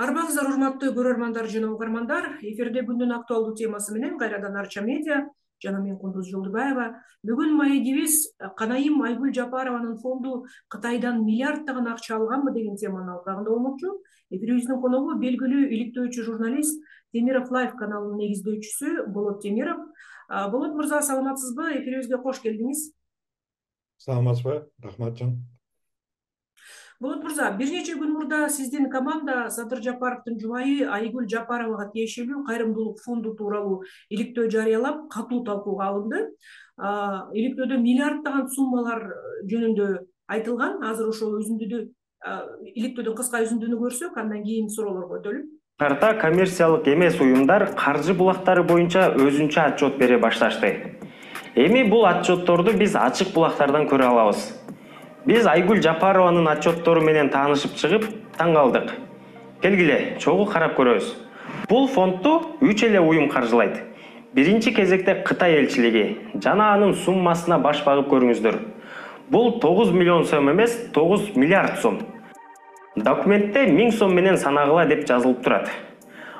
Арбаңыздар урматтуу көрөрмандар жана угармандар. Эфирде күндүн актуалдуу темасы менен кайрадан Арча медиа жана мен Кундуз Жолдубаева. Бүгүн маегибиз Канайым Айгүл Жапарованын фонду Кытайдан миллиарддаган акча алганбы деген теманын алкагында болмокчу. Эфирибиздин коногу белгилүү иликтөөчү журналист Темиров Лайф каналынын негиздөөчүсү Болот Темиров. Болот мырза, саламатсызбы? Эфирибизге кош келдиңиз. Саламатсызбы? Рахмат жан. Болот мырза, бир нече күн мурда сиздин команда Садыр Жапаровдун жубайы Айгүл Жапаровага тиешелүү кайрымдуулук фонду тууралуу иликтөө жарыялап, катуу талкууга алынды. Иликтөөдө миллиарддаган суммалар жөнүндө айтылган. Азыр ошол үзүндүдү, иликтөөдүн кыска үзүндүнү көрсөк, андан кийин суроолорго өтөлүп. Карта коммерциялык эмес уюмдар каржы булактары боюнча өзүнчө отчет бере башташты. Эми бул отчетторду биз ачык булактардан көрө алабыз. Биз Айгүл Жапарованын отчеттору менен таанышып чыгып, таң калдык. Келгиле, чогуу карап көрөбүз. Бул фондду 3 эле уюм каржылайт. Биринчи кезекте Кытай элчилиги жана анын суммасына баш багып көрүңүздөр. Бул 9 миллион сом эмес, 9 миллиард сом. Документте 1000 сом менен санагыла деп жазылып турат.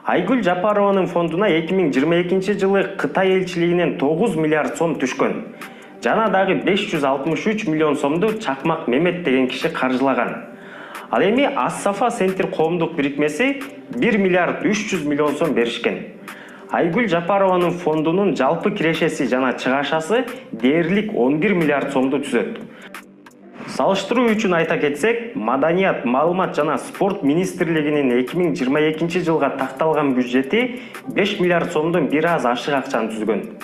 Айгүл Жапарованын фондуна 2022 жылы Кытай элчилигинен 9 миллиард сом түшкөн. Жана дагы 563 миллион сомду Чакмак Мемет деген киши каржылаган. Ал эми Ас-Сафа Центр коомдук бирикмеси 1 миллиард 300 миллион сом беришкен. Айгүл Жапарованын фондунун жалпы кирешеси жана чыгашасы дээрлик 11 миллиард сомду түзөт. Салыштыруу үчүн айта кетсек, Маданият, маалымат жана спорт министрлигинин 2022 жылга такталган бюджети 5 миллиард сомдон бир аз ашык акчаны түзгөн.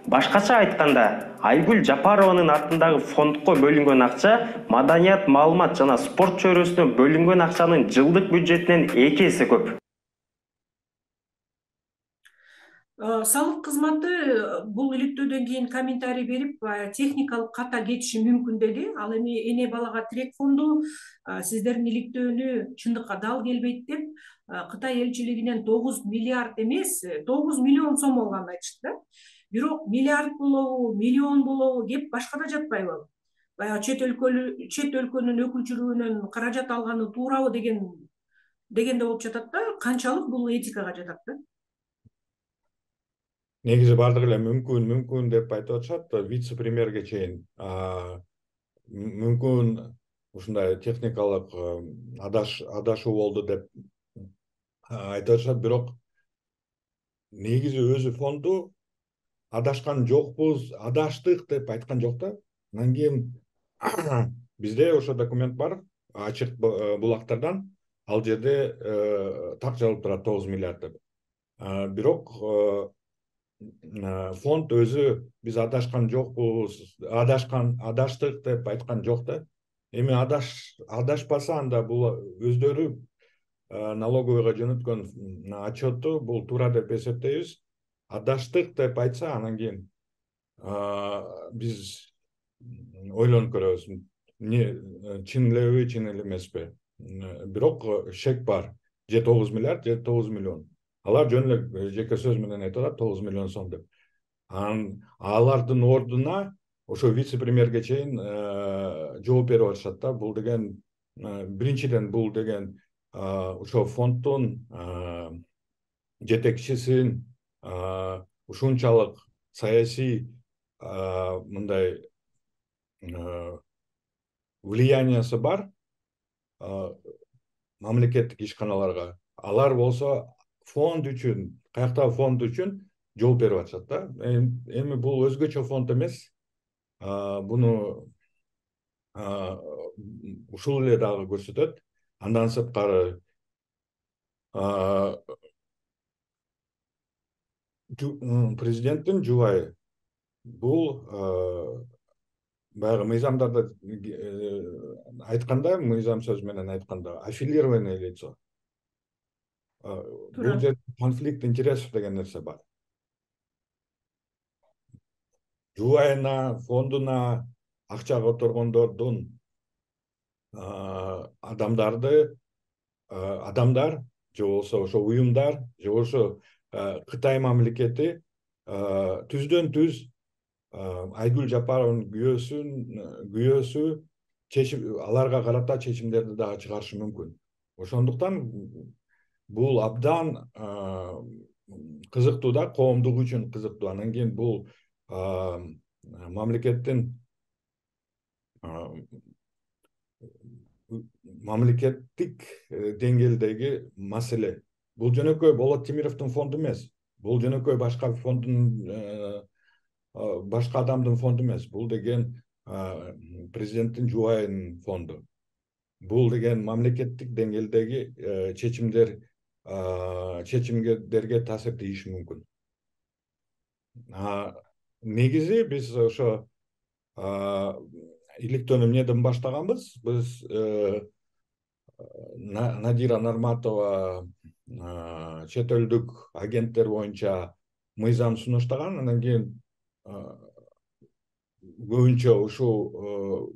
Башкача айтканда, Айгүл Жапарованын атындагы фондко бөлүнгөн акча Маданият, маалымат жана спорт чөйрөсүнө бөлүнгөн акчанын жылдык бюджетинен 2 эсе көп. Салык кызматы бул иликтөөдөн кийин комментарий берип, техникалык ката кетиши мүмкүн деди. Ал эми эне балага тирек фонду сиздердин иликтөөнү чындыкка дал келбейт деп, Кытай элчилигинен 9 миллиард эмес, 9 миллион сом алганын айтышты да. Бирок миллиард болобу, миллион болобу кеп башкада жатпайбы? Баягы чет өлкөнүн өкүлчүлүгүнөн каражат алганы туурабы дегенде болуп жатат да. Канчалык бул этикага жатат да? Негизи бардыгы эле мүмкүн деп айтып атышат, вице-премьерге чейин. Мүмкүн ушундай техникалык адашуу болду деп айтып атышат, бирок негизи өзү фонду адашкан жокпуз, адаштык деп айткан жок да. Анан кийин бизде ошо документ бар, ачык булактардан, ал жерде так жазылып турат 9 миллиард деп. Бирок фонд өзү биз адашкан жокпуз, адаштык деп айткан жок да. Эми адашпаса, анда бул өздөрү налоговыйга жөнөткөн отчетту бул туура деп эсептейбиз. Адаштык деп айтса, анан кийин биз ойлонуп көрөбүз. Чын элеби, чын эле эмеспи. Бирок шек бар. Же 9 миллиард, же 9 миллион. Алар жөн эле жеке сөз менен айтып атат 9 миллион сом деп. Алардын ордуна ошо вице-премьерге чейин жооп берип атышат да. Бул деген биринчиден бул деген ошо фонддун жетекчисин ушунчалык саясий мындай влияниясы бар мамлекеттик ишканаларга. Алар болсо фонд үчүн, каяктагы фонд үчүн жооп берип атышат да. Эми бул өзгөчө фонд эмес. Буну ушул эле дагы көрсөтөт. Андан сырткары президенттин жубайы бул баягы мыйзамдарда айтканда, мыйзам сөз менен айтканда, аффилированное лицо. Бул жерде конфликт интересов деген нерсе бар. Жубайына, фондуна акча которгондордун адамдар же болбосо ошо уюмдар же болбосо Кытай мамлекети түздөн түз Айгүл Жапарованын күйөөсү аларга карата чечимдерди дагы чыгарышы мүмкүн. Ошондуктан бул абдан кызыктуу да, коомдук үчүн кызыктуу. Анан кийин бул мамлекеттин мамлекеттик деңгээлдеги маселе. Бул жөнөкөй Болот Темировдун фонду эмес. Бул жөнөкөй башка башка адамдын фонду эмес. Бул деген президенттин жубайынын фонду. Бул деген мамлекеттик деңгээлдеги чечимдерге таасир тийиши мүмкүн. Негизи биз ошо иликтөөнү эмнеден баштаганбыз? Биз Надира Нарматова чет элдик агенттер боюнча мыйзам сунуштаган, анан кийин көбүнчө ушул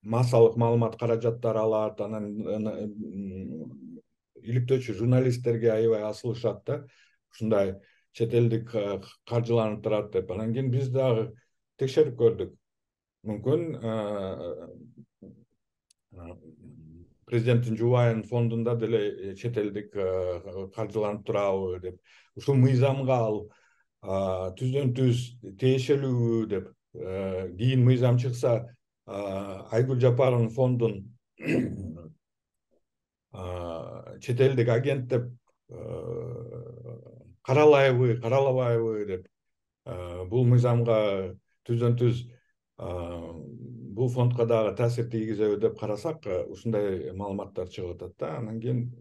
массалык маалымат каражаттары алат, анан иликтөөчү журналисттерге аябай асылышат да, ушундай чет элдик каржыланып турат деп. Анан кийин биз дагы текшерип көрдүк. Мүмкүн президенттин жубайынын фондунда деле чет элдик каржыланып турабы деп, ушул мыйзамга ал түздөн түз тиешелүүбү деп. Кийин мыйзам чыкса, Айгүл Жапаровдун фондун чет элдик агент деп каралайбы, каралабайбы деп. Бул мыйзамга түздөн түз бул фондко дагы таасир тийгизеби деп карасак, ушундай маалыматтар чыгып атат да. Анан кийин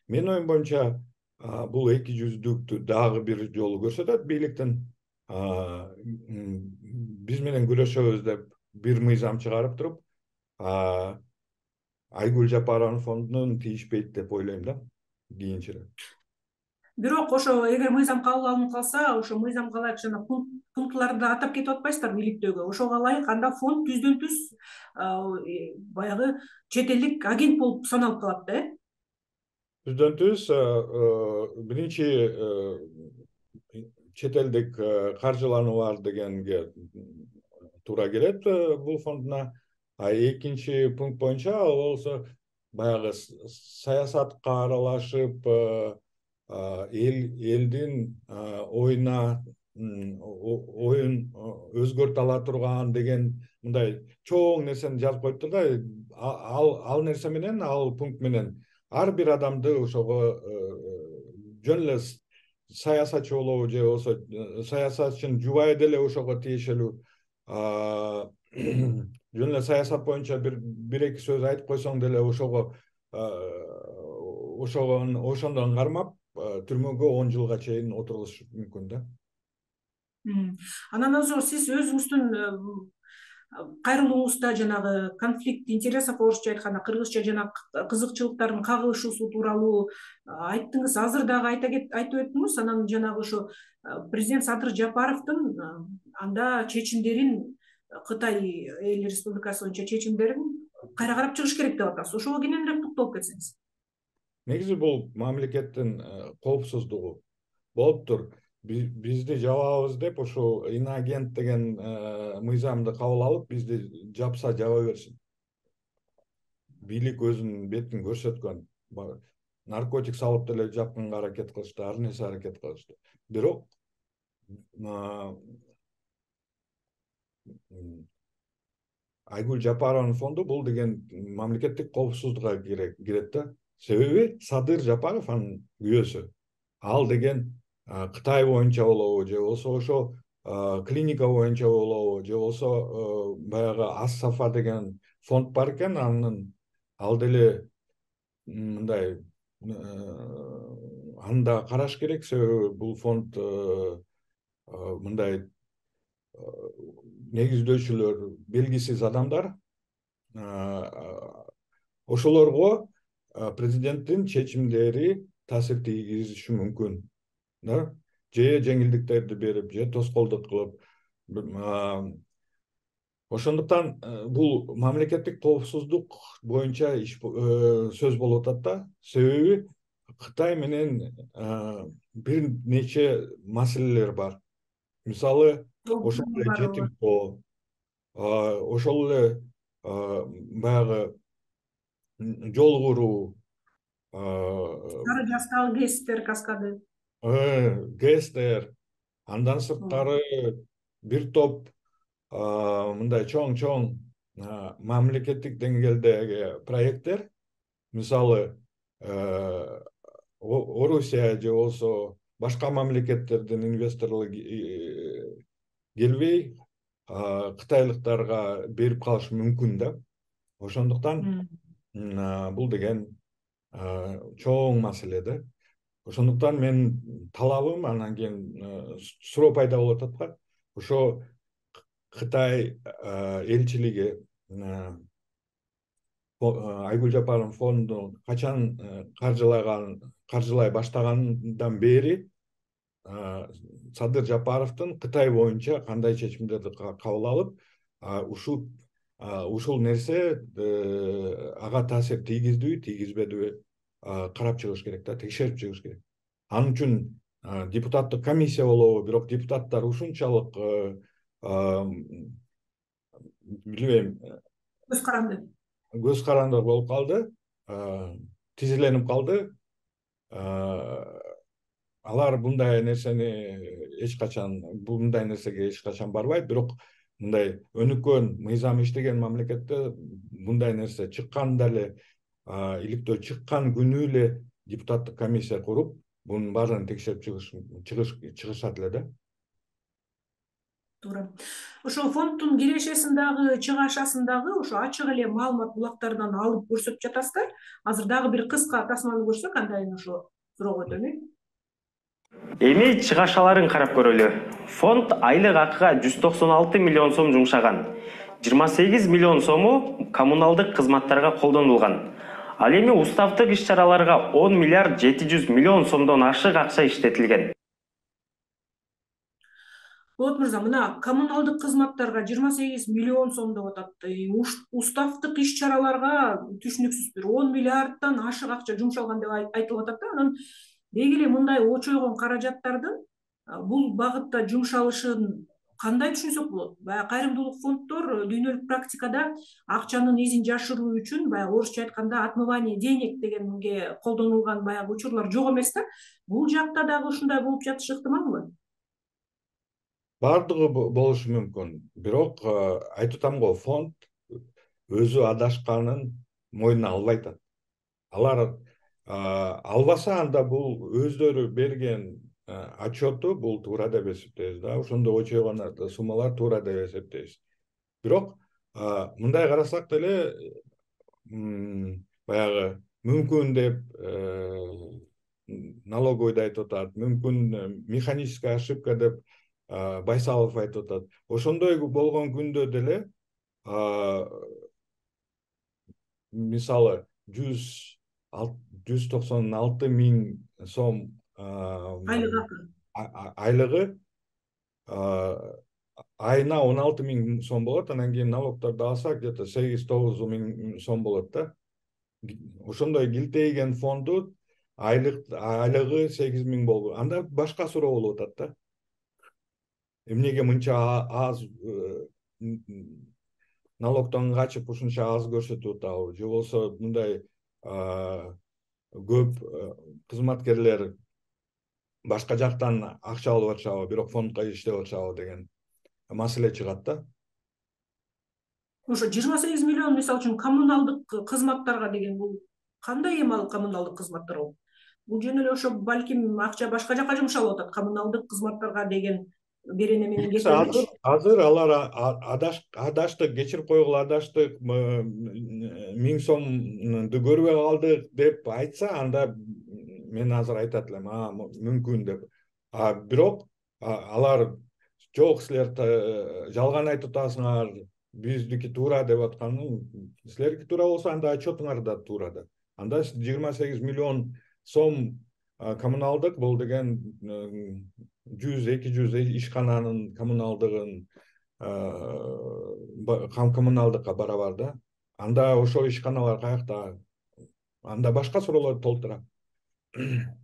менин оюм боюнча бул эки жүздүктү дагы бир жолу көрсөтөт. Бийликтин биз менен күрөшөбүз деп бир мыйзам чыгарып туруп, Айгүл Жапаровдун фондунун тийишпейт деп ойлойм да, кийинчерээк. Бирок ошо эгер мыйзам кабыл алынып калса, ошо мыйзамга ылайык жана пунктларды атап кетип атпайсыздарбы иликтөөгө? Ошого ылайык анда фонд түздөн түз баягы чет элдик агент болуп саналып калат да, Түздөн түз биринчи чет элдик каржылануу бар дегенге туура келет бул фондуна. Экинчи пункт боюнча ал болсо баягы саясатка аралашып, элдин оюн өзгөртө ала турган деген мындай чоң нерсени жазып коюптур да. Ал нерсе менен, ал пункт менен ар бир адамды ошого жөн эле саясатчы болобу же болбосо саясатчынын жубайы деле ошого тиешелүү, жөн эле саясат боюнча бир эки сөз айтып койсоң деле ошондон кармап түрмөгө 10 жылга чейин отурулушу мүмкүн да. Анан сиз өзүңүздүн кайрылууңузда жанагы конфликт интересов, орусча айтканда, кыргызча жана кызыкчылыктардын кагылышуусу тууралуу айттыңыз. Азыр дагы айтып өттүңүз. Анан жанагы ошо президент Садыр Жапаровдун анда чечимдерин, Кытай Эл Республикасы боюнча чечимдерин кайра карап чыгыш керек деп атасыз. Ошого кененирээк токтолуп кетсеңиз. Негизи бул мамлекеттин коопсуздугу болуптур. Бизди жабабыз деп ошо иноагент деген мыйзамды кабыл алып, бизди жапса жаба берсин. Бийлик өзүнүн бетин көрсөткөн. Наркотик салып деле жапканга аракет кылышты, ар нерсе аракет кылышты. Бирок Айгүл Жапаровдун фонду бул деген мамлекеттик коопсуздукка кирет да. Себеби Садыр Жапаров анын күйөөсү. Ал деген Кытай боюнча болобу, же болбосо ошо клиника боюнча болобу, же болбосо баягы Ас-Сафа деген фонд бар экен, ал деле мындай анда караш керек. Себеби бул фонд мындай негиздөөчүлөр белгисиз адамдар, ошолорго президенттин чечимдери таасир тийгизиши мүмкүн да, же жеңилдиктерди берип, же тоскоолдук кылып. Ошондуктан бул мамлекеттик коопсуздук боюнча сөз болуп атат да. Себеби Кытай менен бир нече маселелер бар. Мисалы, ошол эле жетимдөө, ошол эле баягы жол куруу, Сары жастагы ГЭСтер каскады. ГЭСтер, андан сырткары бир топ мындай чоң мамлекеттик деңгээлдеги проекттер, мисалы Орусия же болбосо башка мамлекеттердин инвесторлору келбей кытайлыктарга берип калышы мүмкүн да. Ошондуктан бул деген чоң маселе да. Ошондуктан мен талабым, анан кийин суроо пайда болуп атат да. Ошо Кытай элчилиги Айгүл Жапаров фондун качан каржылай баштагандан бери Садыр Жапаровдун Кытай боюнча кандай чечимдерди кабыл алып, ушул нерсе ага таасир тийгиздиби, тийгизбедиби карап чыгыш керек да, текшерип чыгыш керек. Анын үчүн депутаттык комиссия болобу, бирок депутаттар ушунчалык билбейм, көз каранды болуп калды, тизиленип калды. Алар мындай нерсеге эч качан барбайт, бирок мындай өнүккөн, мыйзам иштеген мамлекетте мындай нерсе чыкканда эле, иликтөө чыккан күнү эле депутаттык комиссия куруп, бунун баарын текшерип чыгышат эле да. Туура. Ошо фонддун кирешесин дагы, чыгашасын дагы ошо ачык эле маалымат булактардан алып көрсөтүп жатасыздар. Азыр дагы бир кыска тасманы көрсөк, андан ошо суроого өтөлү. Эми чыгашаларын карап көрөлү. Фонд айлык акыга 196 миллион сом жумшаган. 28 миллион сому коммуналдык кызматтарга колдонулган. Ал эми уставдык иш-чараларга 10 миллиард 700 миллион сомдон ашык акча иштетилген. Болот мырза, мына коммуналдык кызматтарга 28 миллион сом деп атат. Уставдык иш-чараларга түшүнүксүз бир 10 миллиарддан ашык акча жумшалган деп айтылып атат да. Анан деги эле мындай очойгон каражаттардын бул багытта жумшалышын кандай түшүнсөк болот? Баягы кайрымдуулук фонддор дүйнөлүк практикада акчанын изин жашыруу үчүн, баягы орусча айтканда отмывание денег дегенге колдонулган баягы учурлар жок эмес да. Бул жакта дагы ушундай болуп жатышы ыктымалбы? Бардыгы болушу мүмкүн. Бирок айтып атам го, фонд өзү адашканын мойнуна албай атат. Алар албаса, анда бул өздөрү берген отчету бул туура деп эсептейбиз да. Ошондой очойгон суммалар туура деп эсептейбиз. Бирок мындай карасак деле, баягы мүмкүн деп налоговойдо айтып атат, мүмкүн механическая ошибка деп Байсалов айтып атат. Ошондой болгон күндө деле мисалы 196 миң сом айлыгы айына 16 миң сом болот, анан кийин налогторду алсак где-то 8-9 миң сом болот да. Ошондой килтейген фонду айлыгы 8 миң болду. Анда башка суроо болуп атат да. Эмнеге мынча аз налогтон качып ушунча аз көрсөтүп атабы, же болбосо мындай көп кызматкерлер башка жактан акча алып атышабы, бирок фондко иштеп атышабы деген маселе чыгат да. Ошо 28 миллион мисалы үчүн коммуналдык кызматтарга деген бул кандай эми ал коммуналдык кызматтар болуп? Бул жөн эле ошо балким акча башка жака жумшалып атат, коммуналдык кызматтарга деген берене менен кетип. Азыр алар адаштык, кечирип койгула адаштык, 1000 сомду көрбөй калдык деп айтса, анда мен азыр айтат элем, мүмкүн деп. Бирок алар жок, силер жалган айтып атасыңар, биздики туура деп атканы, силердики туура болсо анда отчетуңар да туура да. Анда 28 миллион сом коммуналдык бул деген 100-200 ишкананын коммуналдыгын коммуналдыкка барабар да. Анда ошол ишканалар каякта? Анда башка суроолорду толтура.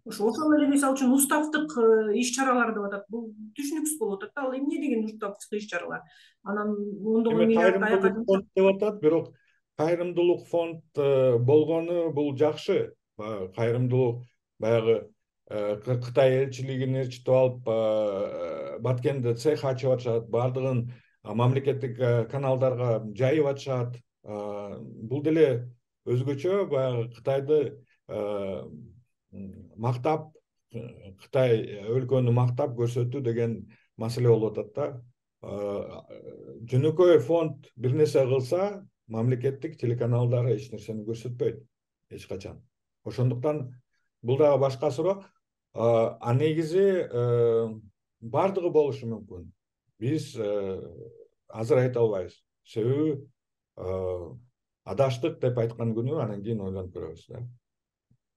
Ошол эле мисалы үчүн уставдык иш-чаралар деп атат. Бул түшүнүксүз болуп атат да. Ал эмне деген уставдык иш-чаралар? Анан ондогон миллиард аяка деп атат, бирок кайрымдуулук фонд болгону бул жакшы. кайрымдуулук баягы Кытай элчилигин ээрчитип алып Баткенде цех ачып атышат, баардыгын мамлекеттик каналдарга жайып атышат. Бул деле өзгөчө баягы Кытайды мактап, Кытай өлкөнү мактап көрсөтүү деген маселе болуп атат да. Жөнөкөй фонд бир нерсе кылса, мамлекеттик телеканалдар эч нерсени көрсөтпөйт эч качан. Ошондуктан бул дагы башка суроо. Негизи бардыгы болушу мүмкүн. Биз азыр айта албайбыз. Себеби адаштык деп айткан күнү анан кийин ойлонуп көрөбүз да.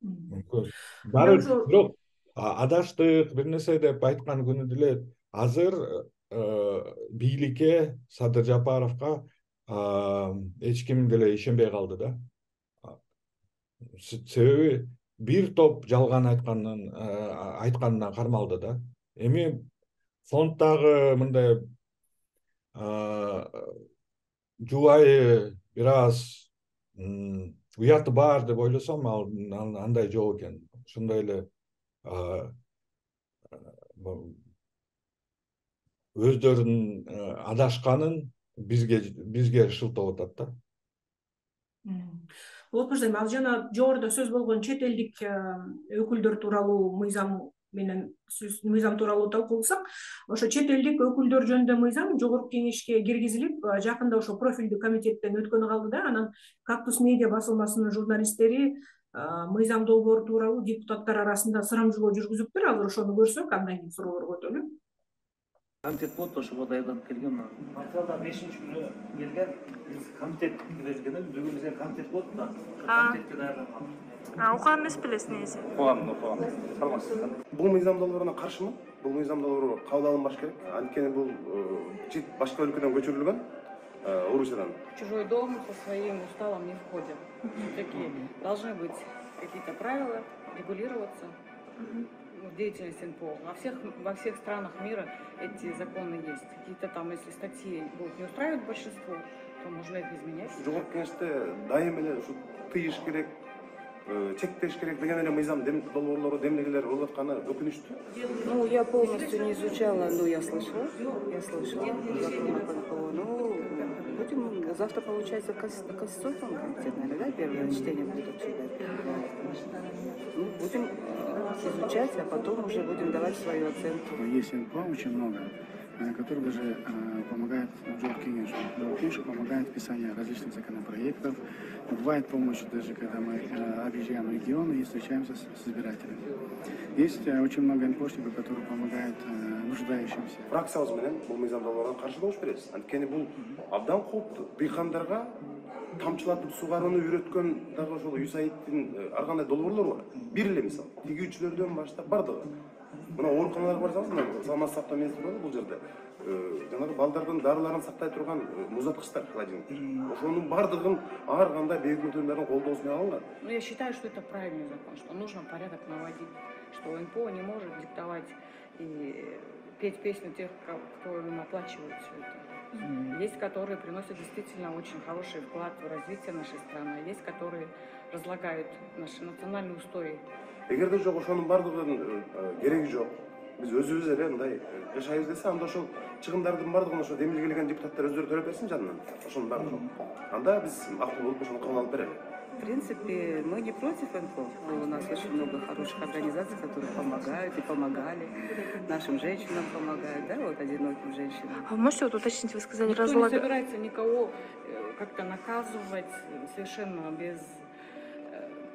Мүмкүн. Бирок адаштык бир нерсе деп айткан күнү деле азыр бийликке, Садыр Жапаровго эч ким деле ишенбей калды да. Себеби бир топ жалган айтканына кармалды да. Эми фонддагы мындай жубайы бир аз уяты бар деп ойлосом, андай жок экен. Ошондой эле өздөрүнүн адашканын бизге шылтап атат да. Болот мырза, ал жана жогоруда сөз болгон чет элдик өкүлдөр тууралуу мыйзам тууралуу талкууласак, ошо чет элдик өкүлдөр жөнүндө мыйзам жогорку кеңешке киргизилип, жакында ошо профилдүү комитеттен өткөнү калды да. Анан Кактус медиа басылмасынын журналисттери мыйзам долбоору тууралуу депутаттар арасында сурамжылоо жүргүзүптүр. Азыр ошону көрсөк, андан кийин суроолорго өтөлү. Комитет болот, ошого даярданып келген. Марталда 5-күнү келген, биз комитет киргизген, бүгүн бизге комитет болот да. Комитетке даярданып. Окуган эмес белесиз негизи. Окугам. Саламатсыз. Бул мыйзам долбооруна каршымын. Бул мыйзам долбоору кабыл алынбаш керек. Анткени бул башка өлкөдөн көчүрүлгөн, Орусиядан. Чужой дом со своим уставом не входит. Такие должны быть какие-то правила, регулироваться. Деятельность НПО. Во всех странах мира эти законы есть. Какие-то там, если статьи будут не устраивать большинство, то можно их изменять. Жогорку кеңеште дайым эле ушу тыйыш керек, чектеш керек деген эле мыйзам долбоорлору, демилгелер болуп атканы өкүнүчтүү. Ну, я полностью не изучала, но я слышала закон о НПО. Ну, будем завтра, получается, Конституционный комитет, наверное, да, первое чтение будет обсуждать. Ну, будем изучать, а потом уже будем давать свою оценку. Есть НПО очень много, которые даже помогают Джоркинешу. Джоркинешу помогает в писании различных законопроектов. Бывает помощь даже, когда мы объезжаем регионы и встречаемся с избирателями. Есть очень много НПОшников, которые помогают нуждающимся. Фракциябыз менен бул мыйзам долбооруна каршы добуш беребиз. Анткени бул абдан кооптуу. Быйкандарга тамчылатып сугарууну үйрөткөн дагы ошол ЮСАИДтин ар кандай долбоорлору бар. Бир эле мисал, тигүүчүлөрдөн баштап бардыгы. Мына ооруканаларга барсаңыз, мына саламаттык сактоо министри бар бул жерде. Жанагы балдардын дарыларын сактай турган музаткычтар, холодильниктер. Ошонун бардыгын ар кандай бейик өкүлдөрдүн колдоосу менен алынган. Ну, я считаю, что это правильный закон, что нужно порядок наводить, что НПО не может диктовать и петь песню тех, кто им оплачивает все это. Есть, которые приносят действительно очень хороший вклад в развитие нашей страны, есть, которые разлагают наши национальные устои. Эгерде жок ошонун бардыгынын кереги жок, биз өзүбүз эле мындай жашайбыз десе, анда ошол чыгымдардын бардыгын ошо демилгелеген депутаттар өздөрү төлөп берсин жанынан. Ошонун баары жок. Анда биз макул болуп ошону кабыл алып берели. В принципе, мы не против НПО. У нас очень много хороших организаций, которые помогают и помогали. Нашим женщинам помогают, да, вот одиноким женщинам. А вы можете вот уточнить, вы сказали, Никто не собирается никого как-то наказывать совершенно без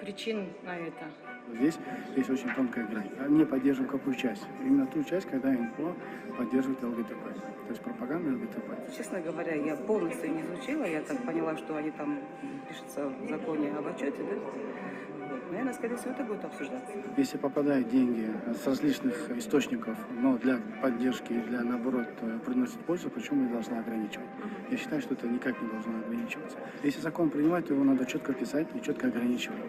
причин на это. Здесь есть очень тонкая грань. Не поддерживаем какую часть? Именно ту часть, когда НПО поддерживает ЛГБТ. То есть пропаганда ЛГБТ. Честно говоря, я полностью не изучила. Я так поняла, что они там пишутся в законе об отчете, да? Наверное, скорее всего, это будет обсуждаться. Если попадают деньги с различных источников, но для поддержки и для, наоборот, приносит пользу, почему мы должны ограничивать? Я считаю, что это никак не должно ограничиваться. Если закон принимать, то его надо четко писать и четко ограничивать.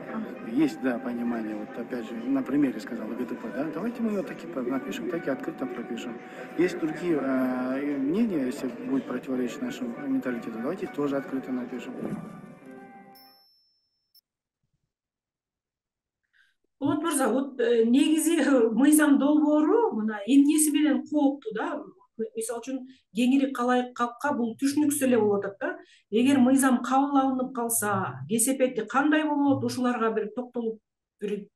Есть, да, понимание, вот опять же, на примере сказал ЛГБТ, да, давайте мы ее таки напишем, так и открыто пропишем. Есть другие мнения, если будет противоречить нашему менталитету, давайте их тоже открыто напишем. мырза, вот негизи мыйзам долбоору мына эмнеси менен кооптуу да? Мисалы үчүн кеңири калкка бул түшүнүксүз эле болуп атат да. Эгер мыйзам кабыл алынып калса, кесепети кандай болот? Ушуларга бир токтолуп, бир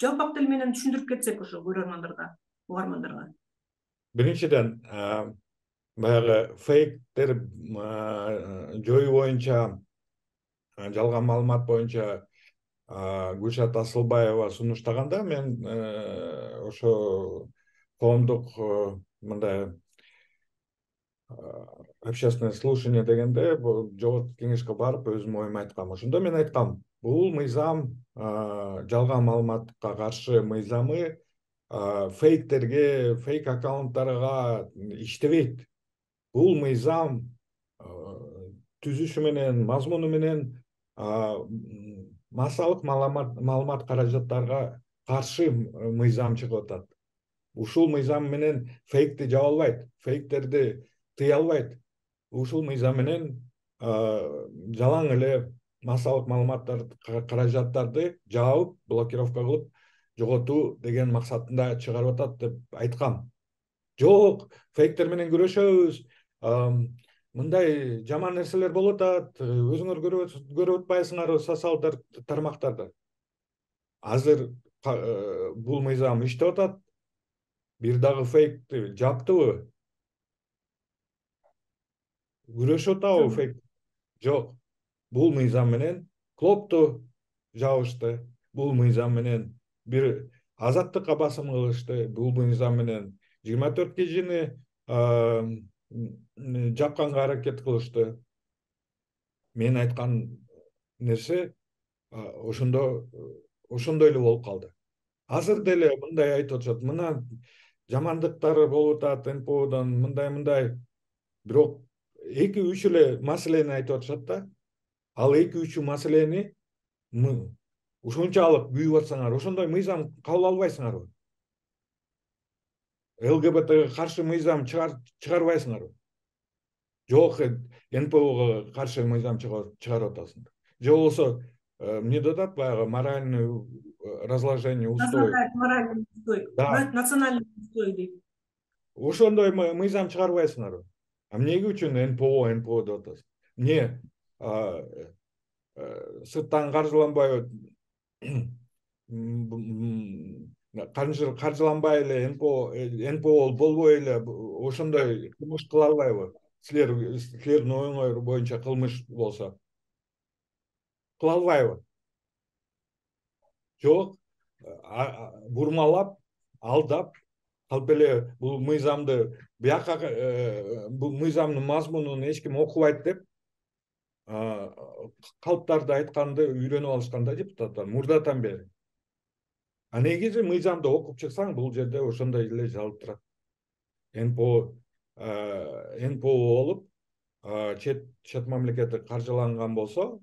жалпак тил менен түшүндүрүп кетсек ошо көрөрмандарга, угармандарга. Биринчиден, баягы фейктер жоюу боюнча, жалган маалымат боюнча Гүлшат Асылбаева сунуштаганда, мен ошо коомдук мындай общественное слушание дегенде, жогорку кеңешке барып өзүмдүн оюмду айткам. Ошондо мен айткам, бул мыйзам жалган маалыматка каршы мыйзамы фейктерге, фейк аккаунттарга иштебейт. Бул мыйзам түзүшү менен, мазмуну менен массалык маалымат каражаттарга каршы мыйзам чыгып атат. Ушул мыйзам менен фейкти жаба албайт, фейктерди тыя албайт. Ушул мыйзам менен жалаң эле массалык маалыматтар каражаттарды жаап, блокировка кылып жоготуу деген максатында чыгарып атат деп айткам. Жок, фейктер менен күрөшөбүз, мындай жаман нерселер болуп атат, өзүңөр көрүп атпайсыңарбы социалдык тармактарда. Азыр бул мыйзам иштеп атат. Бир дагы фейкти жаптыбы? Күрөшүп атабы фейк? Жок. Бул мыйзам менен клопту жабышты. Бул мыйзам менен бир азаттыкка басым кылышты. Бул мыйзам менен 24 кишини жапканга аракет кылышты. Мен айткан нерсе ошондой эле болуп калды. Азыр деле мындай айтып атышат, мына жамандыктар болуп атат НПОдон, мындай. Бирок 2-3 эле маселени айтып атышат да. Ал 2-3 маселени ушунчалык күйүп атсаңар, ошондой мыйзам кабыл албайсыңарбы? ЛГБТга каршы мыйзам чыгарбайсыңарбы? Жок, НПОго каршы мыйзам чыгарып атасыңар. Же болбосо эмне деп атат, баягы моральный разложение устой. Моральный устой. Национальный устой дейт. Ошондой мыйзам чыгарбайсыңарбы? Эмнеге үчүн НПО деп атасың? Эмне сырттан каржыланбай, каржыланбай эле НПО болбой эле ошондой кылмыш кыла албайбы? Силердин оюңар боюнча кылмыш болсо кыла албайбы? Жок, бурмалап, алдап, калп эле бул мыйзамды бияка, бул мыйзамдын мазмунун эч ким окубайт деп калптарды айтканды үйрөнүп алышкан да депутаттар мурдатан бери. Негизи мыйзамды окуп чыксаң, бул жерде ошондой эле жазылып турат. НПО болуп, чет мамлекетте каржыланган болсо,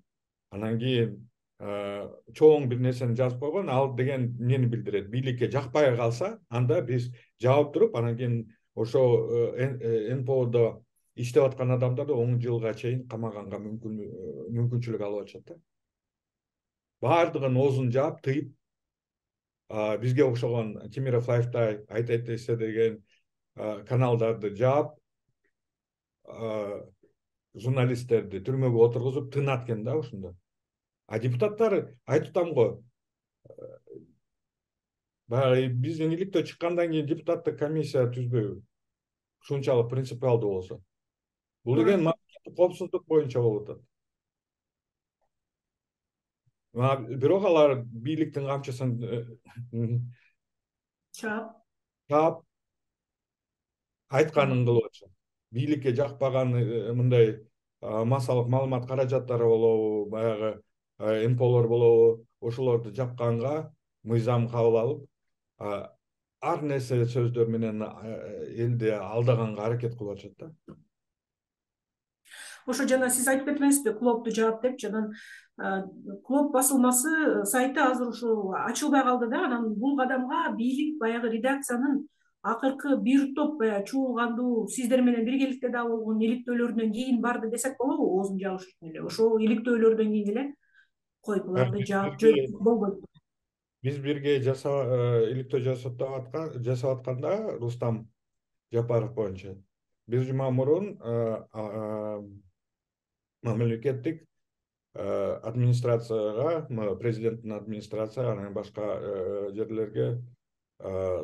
анан кийин чоң бир нерсени жазып койгон, ал деген эмнени билдирет? Бийликке жакпай калса, анда биз жаап туруп, анан кийин ошо НПОдо иштеп аткан адамдарды 10 жылга чейин камаганга мүмкүнчүлүк алып атышат да. Баардыгын оозун жаап, тыйып, бизге окшогон Темиров Лайфтай, Айтайт эсе деген каналдарды жаап, журналисттерди түрмөгө отургузуп тынат экен да ошондо. Депутаттар айтып атам го, баягы биздин иликтөө чыккандан кийин депутаттык комиссия түзбөйбү? Ушунчалык принципиалдуу болсо. Бул деген коопсуздук боюнча болуп атат. Бирок алар бийликтин камчысын чаап, айтканын кылып атышат. Бийликке жакпаган мындай массалык маалымат каражаттары болобу, баягы НПОлор болобу, ошолорду жапканга мыйзам кабыл алып, ар нерсе сөздөр менен элди алдаганга аракет кылып атышат да. Ошо жана сиз айтып кетпеңизби, клопту жаап деп, жанан клоп басылмасы сайты азыр ушу ачылбай калды да. Анан бул кадамга бийлик баягы редакциянын акыркы бир топ чуулгандуу сиздер менен биргеликте да болгон иликтөөлөрдөн кийин барды десек болобу? Оозун жабыш үчүн эле ошол иликтөөлөрдөн кийин эле кой буларды жаап болбойт. Биз бирге иликтөө жасап атканда Рустам Жапаров боюнча бир жума мурун мамлекеттик администрацияга, президенттин администрацияга, анан башка жерлерге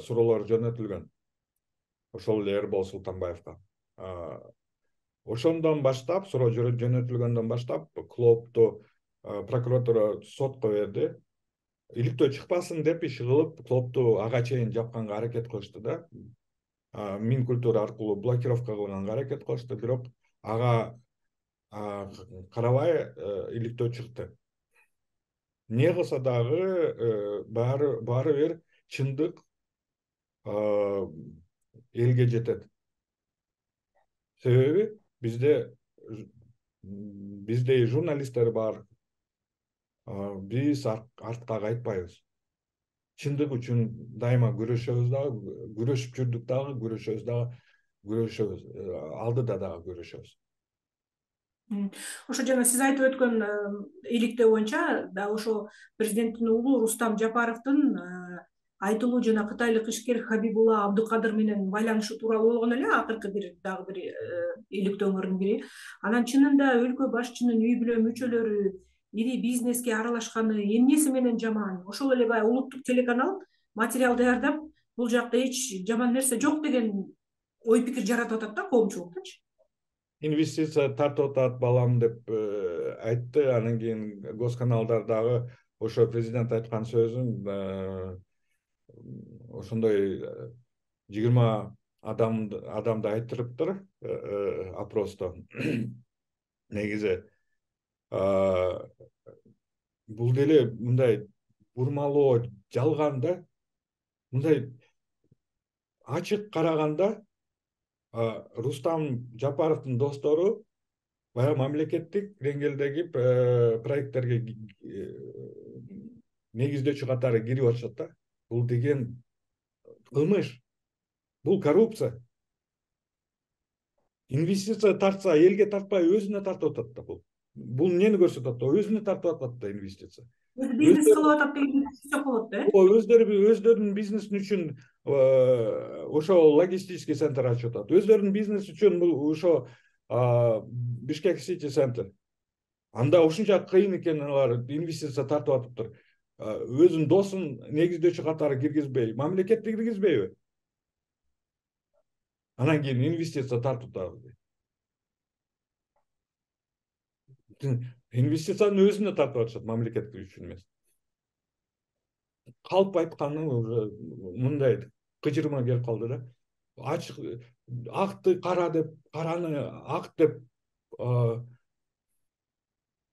суроолор жөнөтүлгөн. Ошол эле Эрбол Султанбаевга. Ошондон баштап, суроо жөнөтүлгөндөн баштап, Клоопту прокуратура сотко берди. Иликтөө чыкпасын деп иш кылып, Клоопту ага чейин жапканга аракет кылышты да. Минкультура аркылуу блокировка кылганга аракет кылышты, бирок ага карабай иликтөө чыкты. Не кылса дагы баары бир чындык элге жетет. Себеби биздей журналисттер бар. Биз артка кайтпайбыз. Чындык үчүн дайыма күрөшөбүз дагы, күрөшүп жүрдүк дагы, күрөшөбүз дагы, күрөшөбүз, алдыда дагы күрөшөбүз. Ошо жана сиз айтып өткөн иликтөө боюнча да ошо президенттин уулу Рустам Жапаровдун айтылуу жана кытайлык ишкер Хабибулла Абдыкадыр менен байланышы тууралуу болгон эле акыркы дагы бир иликтөөңөрдүн бири. Анан чынында өлкө башчынын үй бүлө мүчөлөрү ири бизнеске аралашканы эмнеси менен жаман? Ошол эле баягы улуттук телеканал материал даярдап, бул жакта эч жаман нерсе жок деген ой пикир жаратып атат да коомчулуктачы. Инвестиция тартып атат балам деп айтты. Анан кийин госканалдар дагы ошо президент айткан сөзүн ошондой 20 адамды айттырыптыр опросто. Негизи бул деле мындай бурмалоо жалган да. Мындай ачык караганда Рустам Жапаровдун достору баягы мамлекеттик деңгээлдеги проекттерге негиздөөчү катары кирип атышат да. Бул деген кылмыш. Бул коррупция. Инвестиция тартса, элге тартпай өзүнө тартып атат да бул. Бул эмнени көрсөтөт да? Өзүнө тартып атат да инвестиция. Бизнес кылып атат деген сөз болот да. Өздөрүнүн бизнеси үчүн ошо логистический центр ачып атат. Өздөрүнүн бизнеси үчүн бул ошо Бишкек Сити центр. Анда ушунча кыйын экен алар инвестиция тартып атыптыр. Өзүнүн досун негиздөөчү катары киргизбей, мамлекетти киргизбейби? Анан кийин инвестиция тартып атабыз. Инвестицияны өзүнө тартып атышат, мамлекет үчүн эмес. Калп айтканы уже мындай кыжырма келип калды да. Ачык акты кара деп, караны ак деп,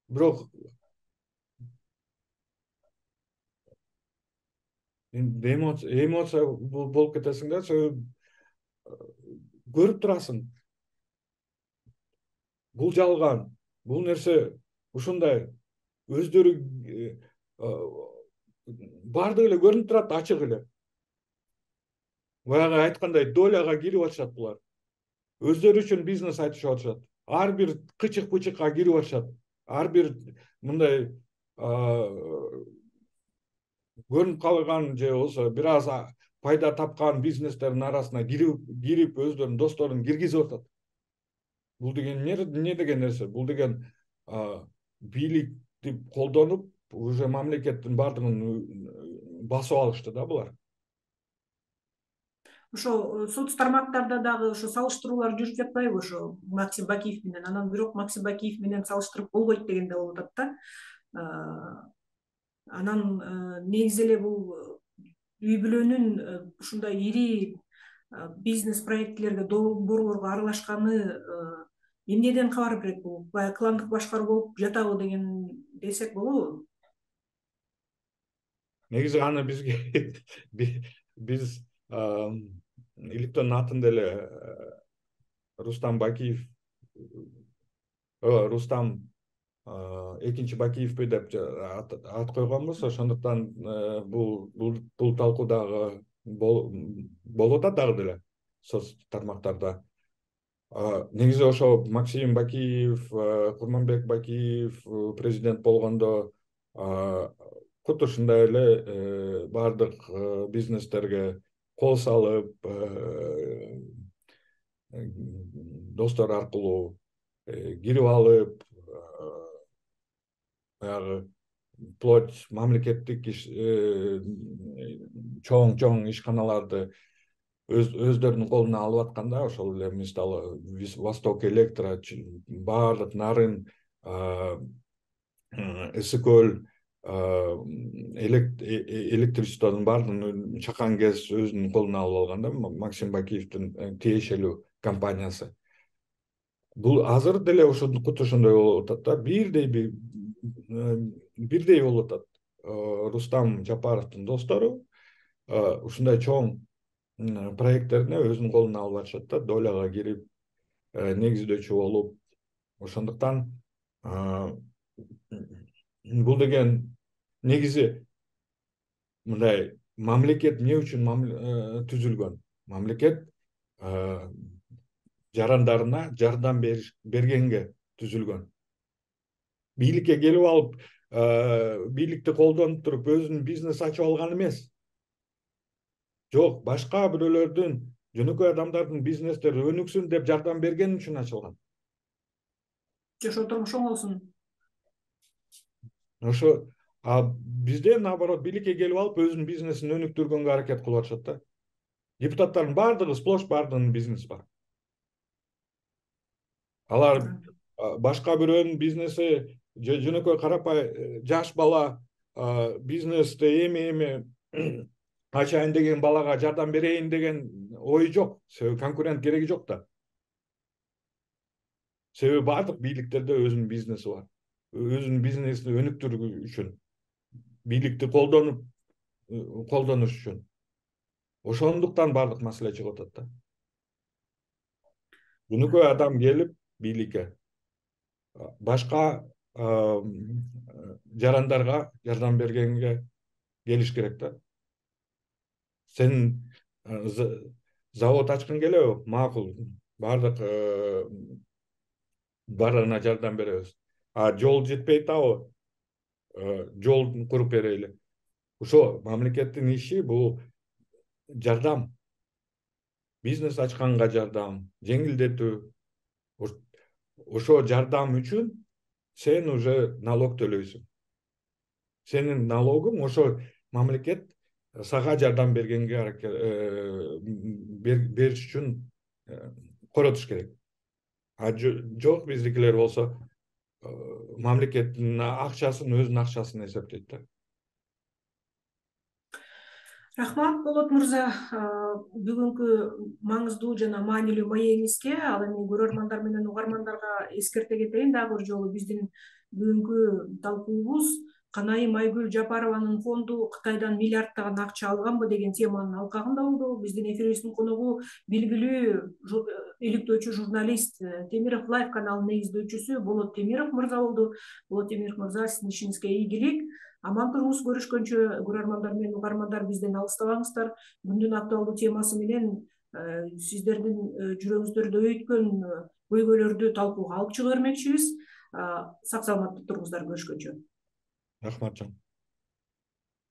бирок эмоция болуп кетесиң да, көрүп турасың. Бул жалган, бул нерсе ушундай өздөрү бардыгы эле көрүнүп турат, ачык эле. Баягы айткандай доляга кирип атышат булар. Өздөрү үчүн бизнес айтышып атышат. Ар бир кычык-пычыкка кирип атышат. Ар бир мындай көрүнүп калган же болсо бир аз пайда тапкан бизнестердин арасына кирип өздөрүнүн досторун киргизип атат. Бул деген эмне деген нерсе? Бул деген бийликти колдонуп, уже мамлекеттин бардыгын басып алышты да булар. Ошо соц тармактарда дагы ошо салыштыруулар жүрүп жатпайбы ошо Максим Бакиев менен? Анан бирок Максим Бакиев менен салыштырып болбойт дегенде болуп атат да. Анан негизи эле бул үй бүлөнүн ушундай ири бизнес проектилерге, долбоорлорго аралашканы эмнеден кабар берет бул? Баягы кландык башкаруу болуп жатабы деген десек болобу? Негизи аны биз иликтөөнүн атын деле Рустам Бакиев, Рустам экинчи Бакиевпи деп ат койгонбуз. Ошондуктан бул талкуу дагы болуп атат дагы деле соц тармактарда. Негизи ошо Максим Бакиев, Курманбек Бакиев президент болгондо Куту ушундай эле бардык бизнестерге кол салып, достор аркылуу кирип алып, баягы вплоть мамлекеттик чоң ишканаларды өздөрүнүн колуна алып атканда, ошол эле мисалы Восток Электро, баардык Нарын, Эси көл, электричествонун баардыгын чакан кез өзүнүн колуна алып алганда, Максим Бакиевдин тиешелүү компаниясы. Бул азыр деле куту ошондой болуп атат да, бирдей болуп атат. Рустам Жапаровдун достору ушундай чоң проекттерине өзүнүн колуна алып атышат да, доляга кирип, негиздөөчү болуп. Ошондуктан бул деген негизи мындай мамлекет эмне үчүн түзүлгөн? Мамлекет жарандарына жардам бергенге түзүлгөн. Бийликке келип алып, бийликти колдонуп туруп өзүнүн бизнес ачып алган эмес. Жок, башка бирөөлөрдүн, жөнөкөй адамдардын бизнестери өнүксүн деп жардам берген үчүн ачылган. Жашоо турмушу оңолсун. Ошо бизде наоборот бийликке келип алып өзүнүн бизнесин өнүктүргөнгө аракет кылып атышат да. Депутаттардын баардыгы сплош баардыгынын бизнеси бар. Алар башка бирөөнүн бизнеси, жөнөкөй карапай жаш бала бизнесте эми ачайын деген балага жардам берейин деген ой жок. Себеби конкурент кереги жок да. Себеби баардык бийликтерде өзүнүн бизнеси бар. Өзүнүн бизнесин өнүктүрүү үчүн, бийликти колдонуш үчүн. Ошондуктан баардык маселе чыгып атат да. Жөнөкөй адам келип бийликке башка жарандарга жардам бергенге келиш керек да. Сен завод ачкың келеби? Макул. Баардыгына жардам беребиз. Жол жетпей атабы? Жол куруп берели. Ошо мамлекеттин иши бул жардам. Бизнес ачканга жардам, жеңилдетүү. Ошо жардам үчүн сен уже налог төлөйсүң. Сенин налогуң ошо мамлекет сага жардам бергенге бериш үчүн коротуш керек. Жок, биздикилер болсо мамлекеттин акчасын өзүнүн акчасын эсептейт да. Рахмат, Болот мырза, бүгүнкү маңыздуу жана маанилүү маегиңизге. Ал эми көрөрмандар менен угармандарга эскерте кетейин дагы бир жолу. Биздин бүгүнкү талкуубуз Канайым Айгүл Жапарованын фонду Кытайдан миллиарддаган акча алганбы деген теманын алкагында болду. Биздин эфирибиздин коногу белгилүү иликтөөчү журналист, Темиров Лайв каналынын негиздөөчүсү Болот Темиров мырза болду. Болот Темиров мырза, сиздин ишиңизге ийгилик. Аман туруңуз, көрүшкөнчө. Көрөрмандар менен угармандар бизден алыстабаңыздар. Күндүн актуалдуу темасы менен сиздердин жүрөгүңүздөрдө өйткөн көйгөйлөрдү талкууга алып чыга бермекчибиз. Сак саламатта туруңуздар, көрүшкөнчө. Рахмат.